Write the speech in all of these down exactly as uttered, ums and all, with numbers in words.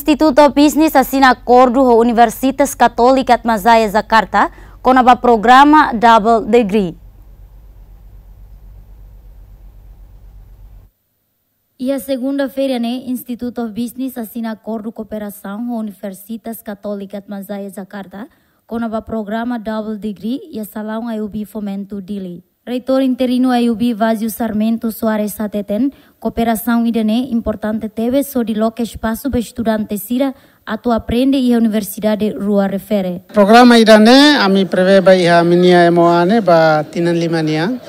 Institute of Business asina akordu ho Universitas Katólika Atmajaya Jakarta, kona-ba programa Double Degree. Iha segunda-feira ne'e, Institute of Business asina akordu kooperasaun ho Universitas Katólika Atmajaya Jakarta, kona-ba programa Double Degree iha salaun I O B Fomento Dili. Reitór interinu I O B Vazio Sarmento Soares hateten, kooperasaun ida-ne'e importante tebes hodi loke espasu ba estudante sira atu aprende iha universidade rua refere. Programa ida-ne'e ami prevee ba iha ami-nia M O A ne'e ba tinan lima nian.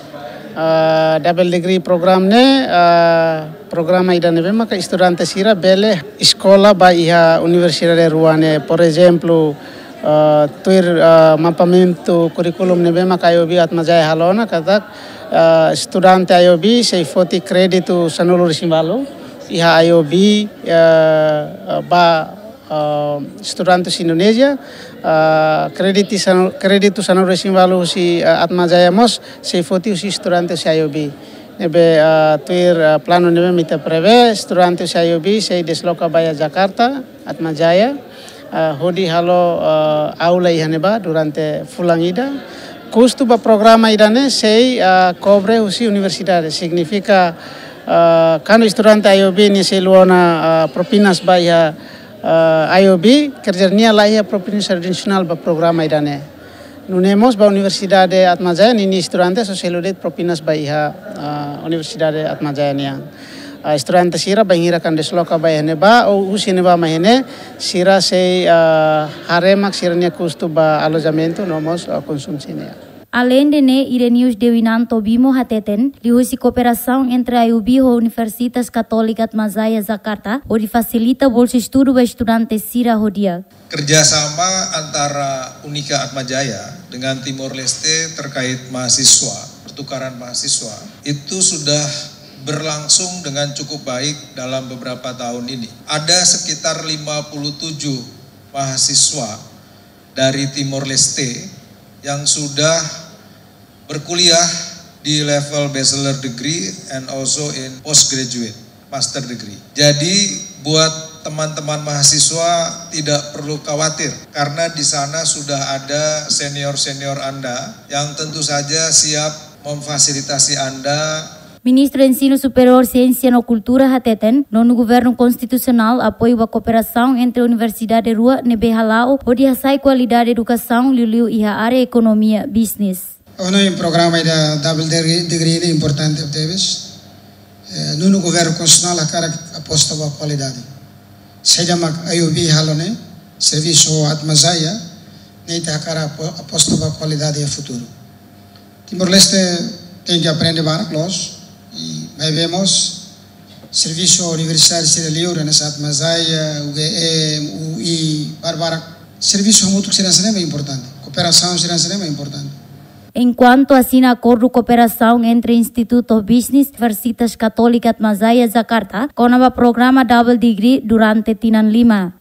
Ah, double degree program ne'e, ah, programa ida ne'ebé maka estudante sira bele eskola ba iha universidade rua ne'e. Por ezemplu, ah, tuir, ah, mapeamentu kurríkulu ne'ebé maka I O B Atmajaya halo ona katak, ah, estudante I O B sei foti kréditu sanulu-resin-ualu iha I O B, ah, ba, ah, estudante husi Indonézia, ah, kréditu sanu-, kréditu sanulu-resin-ualu husi, ah, Atmajaya mós sei foti husi estudante husi I O B. Ne'ebé, ah, tuir, ah, planu ne'ebé mak ita prevee, estudante husi I O B sei desloka ba iha Jakarta, Atmajaya, ah, hodi halo, ah, aula iha ne'ebá durante fulan ida. Kustu ba programa ida-ne'e sei, ah, kobre husi universidade. Signifika, ah, kuandu estudante I O B ne'e sei lori ona, ah, propinas ba iha, ah, I O B, kerja nia laiha propinas adisionál ba programa ida-ne'e. Nune'e mós ba Universidade Atmajaya ninia estudante só sei lori de'it propinas ba iha, ah, Universidade Atmajaya nian. Ah, estudante sira bainhira kuandu desloka ba iha ne'ebá, ou husi ne'ebá mai iha ne'e, sira sei, ah, haree mak sira-nia kustu ba alojamentu no mós, ah, konsumsi nian. Aleinde ne'e, Irenaeus Dewinanto Bimo hateten, liuhusi kooperasaun entre I O B ho Universitas Katólika Atmajaya Jakarta, hodi fasilita bolsa estudu ba estudante sira ho di'ak. Kerjasama antara Unika Atmajaya dengan Timor Leste terkait mahasiswa, pertukaran mahasiswa, itu sudah berlangsung dengan cukup baik dalam beberapa tahun ini. Ada sekitar lima puluh tujuh mahasiswa dari Timor Leste yang sudah berkuliah di level bachelor degree and also in postgraduate master degree. Jadi, buat teman-teman mahasiswa tidak perlu khawatir, karena di sana sudah ada senior-senior Anda yang tentu saja siap memfasilitasi Anda. Ministru Ensinu Superiór, Siénsia no Kultura hateten, nonu governu konstitusionál apoiu ba kooperasaun entre universidade rua ne'ebé hala'o hodi hasa'e kualidade edukasaun liuliu iha área ekonomia bisnis. Ona iha programa ida double degree, degree ne'e importante tebes. Eh, nonu governu konstitusionál hakarak aposta ba kualidade. Saida mak I O B halo ne'e, servisu Atmajaya, ne'e ita hakarak apo-, aposta ba kualidade iha futuru. Timor-Leste tenke aprende barak loos, i maibé mós servisu universidade sira liur, hanesan Atmajaya, U G M, U I, barbarak. Servisu hamutuk sira hanesan ne'e mak importante. Kooperasaun sira hanesan ne'e mak importante. Enkuantu asina akordu kooperasaun entre Institute of Business, Universitas Katólika Atmajaya Jakarta, kona-ba programa Double Degree durante tinan lima.